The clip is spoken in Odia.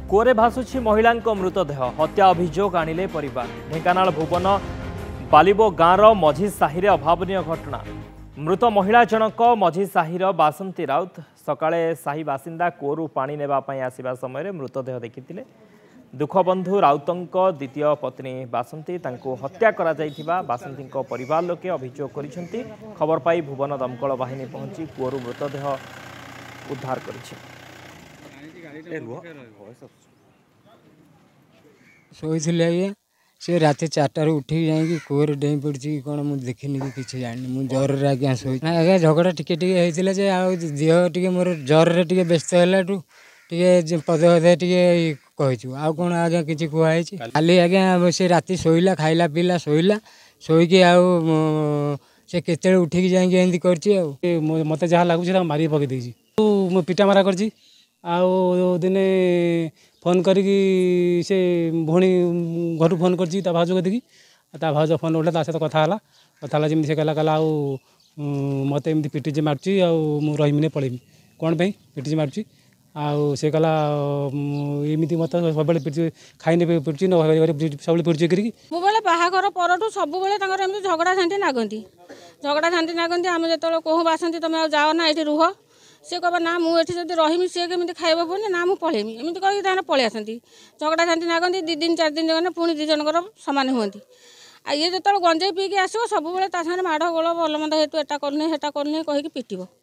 କୂଅରେ ଭାସୁଛି ମହିଳାଙ୍କ ମୃତଦେହ। ହତ୍ୟା ଅଭିଯୋଗ ଆଣିଲେ ପରିବାର। ଢେଙ୍କାନାଳ ଭୁବନ ବାଲିବୋ ଗାଁର ମଝି ସାହିରେ ଅଭାବନୀୟ ଘଟଣା। ମୃତ ମହିଳା ଜଣକ ମଝି ସାହିର ବାସନ୍ତୀ ରାଉତ। ସକାଳେ ସାହି ବାସିନ୍ଦା କୂଅରୁ ପାଣି ନେବା ପାଇଁ ଆସିବା ସମୟରେ ମୃତଦେହ ଦେଖିଥିଲେ। ଦୁଃଖବନ୍ଧୁ ରାଉତଙ୍କ ଦ୍ୱିତୀୟ ପତ୍ନୀ ବାସନ୍ତୀ ତାଙ୍କୁ ହତ୍ୟା କରାଯାଇଥିବା ବାସନ୍ତୀଙ୍କ ପରିବାର ଲୋକେ ଅଭିଯୋଗ କରିଛନ୍ତି। ଖବର ପାଇ ଭୁବନ ଦମକଳ ବାହିନୀ ପହଞ୍ଚି କୂଅରୁ ମୃତଦେହ ଉଦ୍ଧାର କରିଛି। ଶୋଇଥିଲି ଆଜ୍ଞା, ସେ ରାତି 4ଟାରୁ ଉଠିକି ଯାଇକି କୂଅରେ ଡେଇଁ ପଡ଼ିଛି କି କ'ଣ ମୁଁ ଦେଖିନି କି କିଛି ଜାଣିନି। ମୁଁ ଜ୍ୱରରେ ଆଜ୍ଞା ଶୋଇ ଆଜ୍ଞା, ଝଗଡ଼ା ଟିକେ ଟିକେ ହେଇଥିଲା ଯେ ଆଉ ଦେହ ଟିକେ ମୋର ଜ୍ୱରରେ ଟିକେ ବ୍ୟସ୍ତ ହେଲାଠୁ ଟିକେ ପଦେ ପଦେ ଟିକେ କହିଛୁ, ଆଉ କ'ଣ ଆଜ୍ଞା କିଛି କୁହାହେଇଛି? କାଲି ଆଜ୍ଞା ସେ ରାତି ଶୋଇଲା, ଖାଇଲା ପିଇଲା, ଶୋଇଲା, ଶୋଇକି ଆଉ ସେ କେତେବେଳେ ଉଠିକି ଯାଇକି ଏମିତି କରିଛି। ଆଉ ମୋତେ ଯାହା ଲାଗୁଛି ତାକୁ ମାରିକି ପକେଇ ଦେଇଛି। ମୁଁ ପିଟା ମାରା କରିଛି। ଆଉ ଦିନେ ଫୋନ୍ କରିକି ସେ ଭଉଣୀ ଘରୁ ଫୋନ୍ କରିଛି ତା ଭାଉଜ କତିକି। ତା ଭାଉଜ ଫୋନ୍ ଉଠେଇଲା, ତା ସହିତ କଥା ହେଲା। କଥା ହେଲା ଯେମିତି ସେ କହିଲା, କହିଲା ଆଉ ମୋତେ ଏମିତି ପିଟିଛି ମାରୁଛି, ଆଉ ମୁଁ ରହିମିନି ପଳେଇମି। କ'ଣ ପାଇଁ ପିଟିଛି ମାରୁଛି? ଆଉ ସେ କହିଲା ଏମିତି ମୋତେ ସବୁବେଳେ ପିଟୁଛି, ଖାଇନି ପିଟୁଛି, ନ ସବୁବେଳେ ପିଟୁଛି କରିକି। ସବୁବେଳେ ବାହାଘର ପରଠୁ ସବୁବେଳେ ତାଙ୍କର ଏମିତି ଝଗଡ଼ା ଝାଣ୍ଟି ନାଗନ୍ତି, ଝଗଡ଼ା ଝାଣ୍ଟି ନାଗନ୍ତି। ଆମେ ଯେତେବେଳେ କହୁ ବାସନ୍ତି ତମେ ଆଉ ଯାଅ ନା, ଏଇଠି ରୁହ, ସେ କହିବ ନା ମୁଁ ଏଠି ଯଦି ରହିମି ସିଏ କେମିତି ଖାଇବ ପୁଣି, ନା ମୁଁ ପଳେଇମି, ଏମିତି କହିକି ତାଙ୍କର ପଳେଇ ଆସନ୍ତି। ଝଗଡ଼ା ଝାଣ୍ଟି ନାଗନ୍ତି 2 ଦିନ 4 ଦିନ ଗଲେ ପୁଣି 2 ଜଣଙ୍କର ସମାନ ହୁଅନ୍ତି। ଆଉ ଇଏ ଯେତେବେଳେ ଗଞ୍ଜେଇ ପିଇକି ଆସିବ ସବୁବେଳେ ତା ସାଙ୍ଗରେ ମାଡ଼ ଗୋଳ ଭଲ ମନ୍ଦ ହେତୁ ଏଟା କରୁନି ସେଟା କରୁନି କହିକି ପିଟିବ।